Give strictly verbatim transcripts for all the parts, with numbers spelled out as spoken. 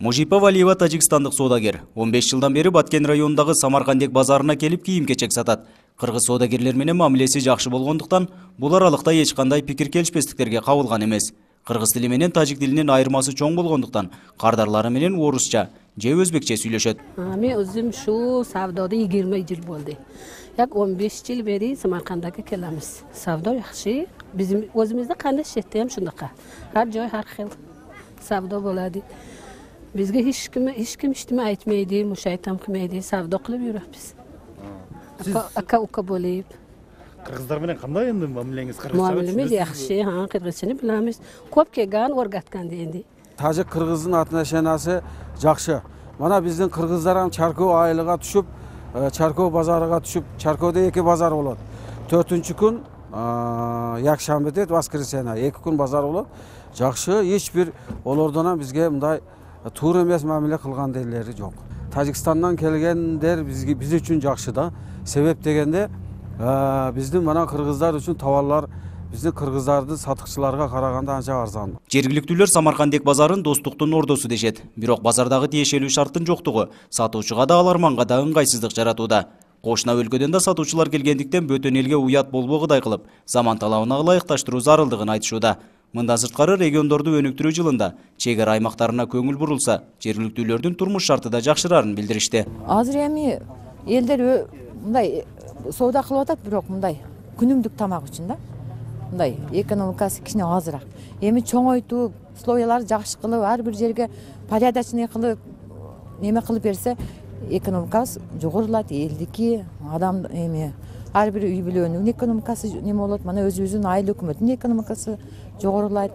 Мужипа Валиева тажикстандык соодагер. он беш жылдан бери Баткен районундагы Самаркандек базарына келип кийим-кечек сатат. Кыргыз соодагерлер менен мамилеси жакшы болгондуктан бул аралыкта эч кандай пикир келишпестиктерге кабылган эмес. Кыргыз тили менен тажик тилинин айырмасы чоң болгондуктан кардарлары менен орусча же өзбекче сүйлөшөт. Мен өзүм шу савдода yigirma жыл болду. Як он беш жыл бери Самаркандага келебиз. Савдо жакшы. Биздин өзүбүздө кандай шетте ham шундакка. Ар жой ар хил савдо болот. Бизге эч ким эч ким эчтеме айтмайт, мушайтам кылмайт, савдо кылып жүрөбүз. Ака ука болуп. Кыргыздар менен кандай энди мамилеңиз? Мамилемиз жакшы, ха, кыргызчаны билебиз. Көп келген, оргаткан энди. Тажик кыргыздын отношениясы жакшы. Мана биздин кыргыздар ham Чарков айылыга түшүп, Чарков базарыга түшүп, Чарковдо эки базар болот. төртүнчү күн якшамбы дейт, воскресенье, эки күн базар болот. Жакшы, эч бир олордон бизге мындай туура эмес мамиле кылган делери жок. Тажикстандан келгендер бизге биз үчүн жакшы да. Себеп дегенде биздин мана кыргыздар үчүн товарлар биздин кыргыздардын сатыкчыларга караганда анча арзан. Жергиликтүүлөр Самаркандек базарын достуктун ордосу дешет. Бирок базардагы тиешелүү шарттын жоктугу сатуучуга да аларманга да ыңгайсыздык жаратууда. Кошуна өлкөдөн да сатуучулар келгендиктен бөтөн элге уят болбогудай кылып, заман талабына ылайыкташтыруу зарылдыгын айтышууда. Мындан сырткары региондорду өнүктүрүү жылында чек ара аймактарына көңүл бурулса, жергиликтүүлөрдүн турмуш шарты да жакшырарын билдиришти. Азыр эми элдер мындай соода кылып атат, бирок мындай күнүмдүк тамак үчүн да. Мындай экономикасы кичине азыраак. Эми чоңойтуу, условияларды жакшы кылып, ар бир жерге порядочный кылып, неме кылып берсе, экономикабыз жогорулат, элдики, адам эми ар бир үй бүлөнүн экономикасы неме болот, мана өзүбүздүн айыл өкмөтүнүн экономикасы жогорулайт.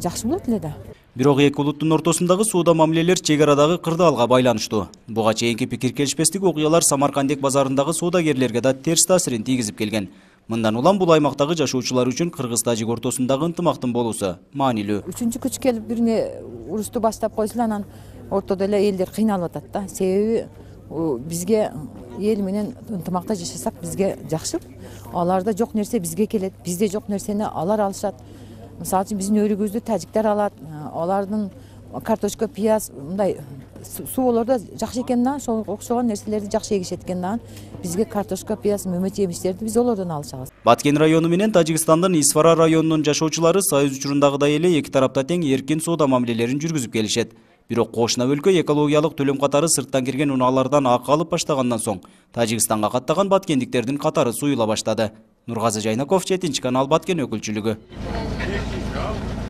Жакшы болот эле да. Бирок эки улуттун ортосундагы соода мамилелер чек арадагы кырдаалга байланыштуу. Буга чейинки пикир келишпестик окуялар Самаркандек базарындагы соодагерлерге да терс таасирин тийгизип келген. Мындан улам бул аймактагы жашоочулар үчүн кыргыз-тажик ортосундагы ынтымактын болуусу маанилүү. Үчүнчү күч келип бирине урусту баштап койсула, анан ортодо эле элдер кыйналып атат да. Себеби бизге эл менен ынтымакта жашасак бизге жакшы. Аларда жок нерсе бизге келет, бизде жок нерсени алар алышат. Мисалы үчүн биздин өрүгүбүздү тажиктер алат, алардын картошка, пияз, мындай сууларда жакшы экен да, ошол окшогон нерселерди жакшы эгишет экен да. Бизге картошка, пияз, мөмөт жемиштерди биз олордон алышабыз. Баткен району менен Тажикстандын Исфара районунун жашоочулары союз учурундагыдай эле эки тарапта тең эркин соода мамилелерин жүргүзүп келишет. Бирок кошуна өлкө экологиялык төлөм катары сырттан кирген унаалардан акы алып баштагандан соң Тажикстанга каттаган баткендиктердин катары суюла баштады. Нургазы Жайнаков, жетинчи канал, Баткен өкүлчүлүгү.